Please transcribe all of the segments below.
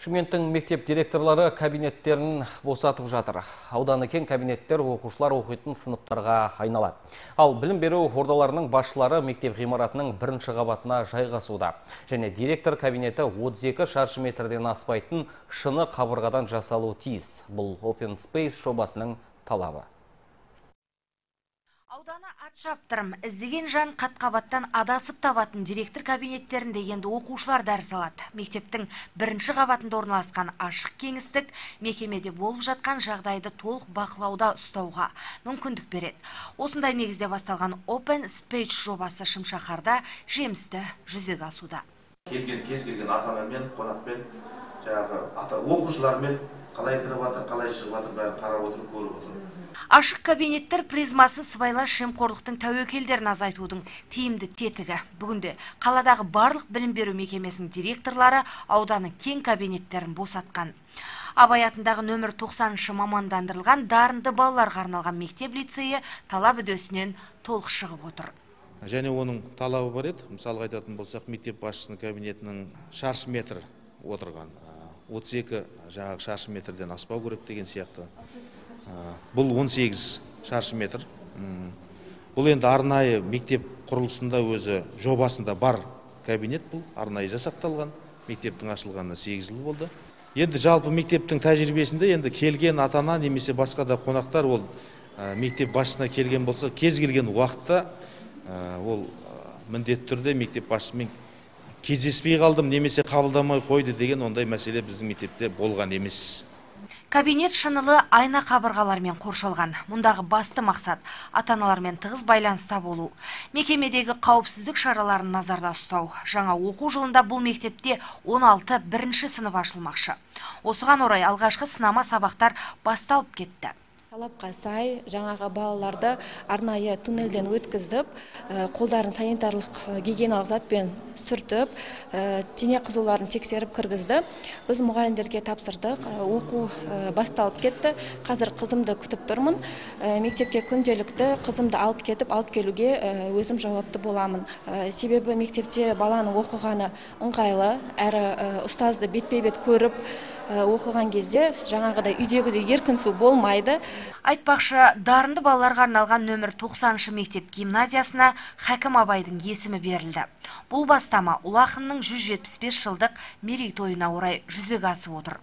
Шымкенттің мектеп директорлары кабинеттерін босатып жатыр. Ауданы кең кабинеттер оқушылар оқитын сыныптарға айналады. Ал білім беру ордаларының басшылары мектеп ғимаратының бірінші қабатына жайғасуда. Және директор кабинеті 32 шаршы метрден аспайтын шыны қабырғадан жасалуы тиіс. Бұл Open Space жобасының талабы. Ауданы ат шаптырым, іздеген жан қат-қабаттан адасып табатын директор кабинеттерінде енді оқушылар дәріс алады. Мектептің бірінші қабатында орналасқан ашық кеңістік мекемеде болып жатқан жағдайды толық бақылауда ұстауға мүмкіндік береді. Осындай негізде басталған Open Space жобасы Шымшаһарда жемісті жүзеге асуда. Кез келген ата-анамен, қонақпен, оқушылармен қалай кіріп жатыр, қалай шығып жатыр, бәрін қарап отырып, көріп отырып. Ашық кабинеттер призмасы сыбайлас жемқорлықтың тәуекелдерін азайтудың тиімді тетігі. Бүгінде қаладағы барлық білім беру мекемесінің директорлары ауданы кең кабинеттерін босатқан. Абай атындағы нөмір 90-шы мамандандырылған дарынды балаларға арналған мектеп лицейі талап үдесінен толық шығып отыр. Және оның талабы бар еді. Мысалға айтатын болсақ, мектеп басшысының кабинетінің шаршы метр отырған. 32 шаршы метрден аспау керек деген сияқты. Бұл 18 шаршы метр. Бұл енді арнайы мектеп құрылысында өзі жобасында бар кабинет, бұл арнайы жасақталған. Мектептің ашылғанына 8 жыл болды. Енді жалпы мектептің тәжірибесінде енді келген ата-ана немесе басқа да қонақтар ол мектеп басшысына келген болса, кез келген уақытта ол міндетті түрде мектеп басшысымен кездеспей қалдым немесе қабылдамай қойды деген ондай мәселе біздің мектепте болған емес. Кабинет шынылы айна қабырғалармен қоршалған. Мұндағы басты мақсат ата-аналармен тығыз байланыста болу. Мекемедегі қауіпсіздік шараларын назарда ұстау. Жаңа оқу жылында бұл мектепте 16 бірінші сынып ашылмақшы. Осыған орай алғашқы сынама сабақтар басталып кетті. Талапқа сай жаңағы балаларды арнайы туннельден өткізіп, қолдарын санитарлық гигиеналық затпен сүртіп, дене қызуларын тексеріп кіргізді. Біз мұғалімдерге тапсырдық, оқу басталып кетті. Қазір қызымды күтіп тұрмын. Мектепке күнделікті қызымды алып кетіп, алып келуге өзім жауапты боламын. Себебі мектепте баланың оқығаны ыңғайлы, әрі ұстазды бетпе-бет көріп оқыған кезде жаңағыдай үйдегідей еркін су болмайды. Айтпақшы, дарынды балаларға арналған нөмір 90-шы мектеп гимназиясына Хәкім Абайдың есімі берілді. Бұл бастама ұлы ақынның 175 жылдық мерейтойына орай жүзеге асып отыр.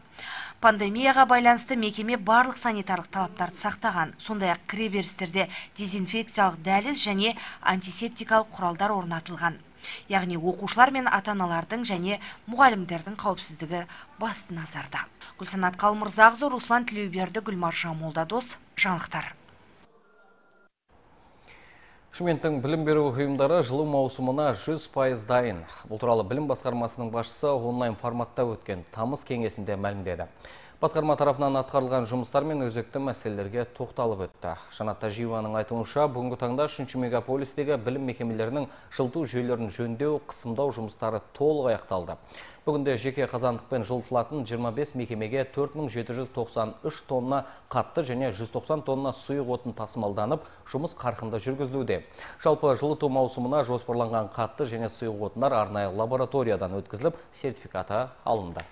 Пандемияға байланысты мекеме барлық санитарлық талаптарды сақтаған. Сондай-ақ кіреберістерде дезинфекциялық дәліз және антисептикалық құралдар орнатылған. Яғни оқушылар мен ата-аналардың және мұғалімдердің қауіпсіздігі басты назарда. Гүлсанат Қалмырзағызы, Руслан Тілеуберді, Гүлмаржан Молдадос, жаңалықтар. Шымкенттің білім беру ұйымдары жылу маусымына 100% дайын. Бұл туралы білім басқармасының басшысы онлайн форматта өткен тамыз кеңесінде мәлімдеді. Басқарма тарапынан атқарылған жұмыстар мен өзекті мәселелерге тоқталып өтті. Жанат Тажиеваның айтуынша, бүгінгі таңда 3 мегаполистегі білім мекемелерінің жылыту жүйелерін жөндеу, қысымдау жұмыстары толық аяқталды. Бүгінде жеке қазандықпен жылытылатын 25 мекемеге 4793 тонна қатты және 190 тонна сұйық отын тасымалданып, жұмыс қарқынды жүргізілуде. Жалпы жылыту маусымына жоспарланған қатты және сұйық отындар арнайы лабораториядан өткізіліп, сертификаты алынды.